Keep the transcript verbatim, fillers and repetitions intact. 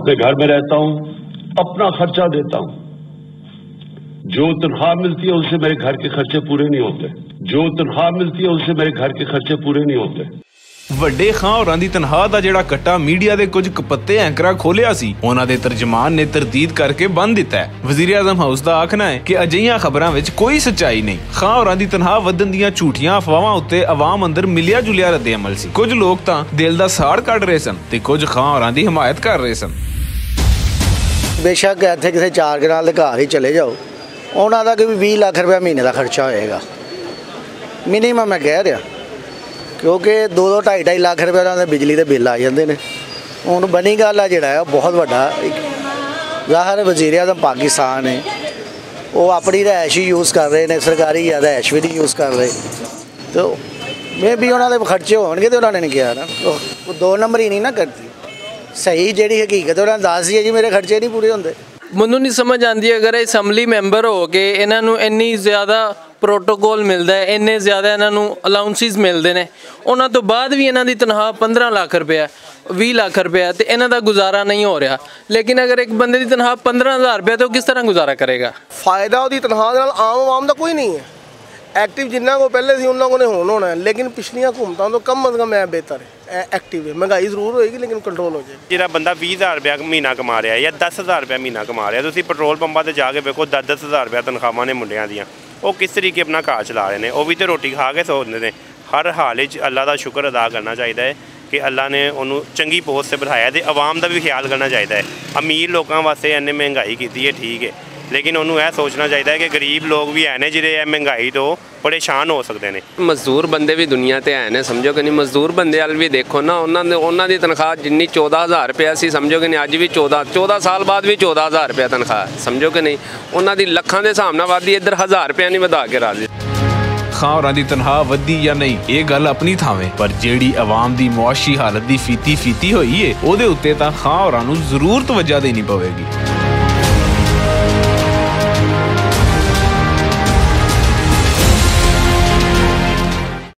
میں گھر میں رہتا ہوں، اپنا خرچہ دیتا ہوں۔ جو تنخواہ ملتی ہے، اس سے میرے گھر کے خرچے پورے نہیں ہوتے۔ جو تنخواہ ملتی ہے، اس سے میرے گھر کے خرچے پورے نہیں ہوتے۔ وڈے خاں ہوراں دی تنخواہ دا جڑا کٹا میڈیا دے کچھ کپتے اینکراں کھولیا سی، انہاں دے ترجمان نے تردید کر کے بند دتا ہے۔ وزیر اعظم ہاؤس دا آکھنا ہے کہ اجہیاں خبراں وچ کوئی سچائی نہیں۔ خاں ہوراں دی تنخواہ ودھن دیاں جھوٹیاں افواہاں اتے عوام اندر ملیا جلیا رد عمل سی۔ کچھ لوگ تاں دل دا ساڑ کڈ رہے سن تے کچھ خاں ہوراں دی حمایت کر رہے سن۔ بے شک ایتھے کسے چار کنال دے گھر ہی چلے جاؤ، انہاں دا کہ وی ویہہ لکھ روپیہ مہینے دا خرچہ ہوئے گا، منیمم میں کہہ رہا، کیونکہ دو دو ڈھائی ڈھائی لکھ روپیہ انہاں دے بجلی دے بل آ جاندے نے۔ ہن بنی گل آ جڑا ہے، بہت وڈا ایک ظاہر ہے، وزیر اعظم پاکستان ہے، وہ اپنی رہائش ہی یوز کر رہے نے، سرکاری یا رہائش بھی نہیں یوز کر رہے۔ تو میں بھی انہاں دے خرچے ہون گے تے انہاں نے نہیں کیا نا، وہ دو نمبر ہی نہیں نا کرتی۔ صحیح جڑی حقیقت ہے، انہاں دس ہی ہے جی، میرے خرچے نہیں پورے ہوندے۔ منوں نہیں سمجھ آندی، اگر اسمبلی میمبر ہو کے انہاں نوں انی زیادہ پروٹوکول ملدا ہے، انہیں زیادہ انہاں نوں الاؤنسز ملدے نے، انہاں تو بعد بھی انہاں دی تنخواہ پندرہ لکھ روپیہ، ویہہ لکھ روپیہ، تے انہاں دا گزارا نہیں ہو رہا۔ لیکن اگر ایک بندے دی تنخواہ پندرہ ہزار روپیہ، تو کس طرح گزارا کرے گا؟ فائدہ اوہدی تنخواہ دے نال عام عوام دا کوئی نہیں ہے۔ ایکٹیو جنہاں کو پہلے سی، انہاں کو نے ہون ہونا ہے، لیکن پچھلیاں حکومتاں تو کم از کم اے بہتر ہے، اے ایکٹیو ہے۔ مہنگائی ضرور ہوئے گی، لیکن کنٹرول ہو جائے گی۔ جیہڑا بندہ ویہہ ہزار روپیہ مہینہ کما رہا ہے یا دس ہزار روپیہ مہینہ کما رہا ہے، تسی پٹرول پمپاں تے جا کے ویکھو، دس دس ہزار روپیہ تنخواہاں نے منڈیاں دیاں، او کس طریقے اپنا گھر چلا رہے نے؟ او وی تے روٹی کھا کے سوندے نے۔ ہر حال وچ اللہ دا شکر ادا کرنا چاہیدا ہے کہ اللہ نے انہوں چنگی پوسٹ تے بٹھایا تے عوام دا وی خیال کرنا چاہیدا ہے۔ امیر لوکاں واسطے انہیں مہنگائی کیتی ہے، ٹھیک ہے، لیکن انہوں اے سوچنا چاہیدا ہے کہ غریب لوگ وی ہے نے جڑے اے مہنگائی تو پریشان ہو سکدے نے۔ مزدور بندے وی دنیا تے ہے نے، سمجھو کہ نہیں؟ مزدور بندے ال وی دیکھو نا، انہاں دے، انہاں دی تنخواہ جنی چودہ ہزار روپیہ سی، سمجھو کہ نہیں؟ اج وی چودہ، چودہ سال بعد وی چودہ ہزار روپیہ تنخواہ، سمجھو کہ نہیں؟ انہاں دی لکھاں دے حساب نال ودی، ادھر ہزار روپیہ نہیں ودھا کے راضی۔ خاں ہوراں دی تنخواہ ودی یا نہیں، اے گل اپنی تھاویں، پر جیڑی عوام دی معاشی حالت دی فیتی فیتی ہوئی ہے، او دے اُتے تاں خاں ہوراں نوں ضرور توجہ دینی پوے گی۔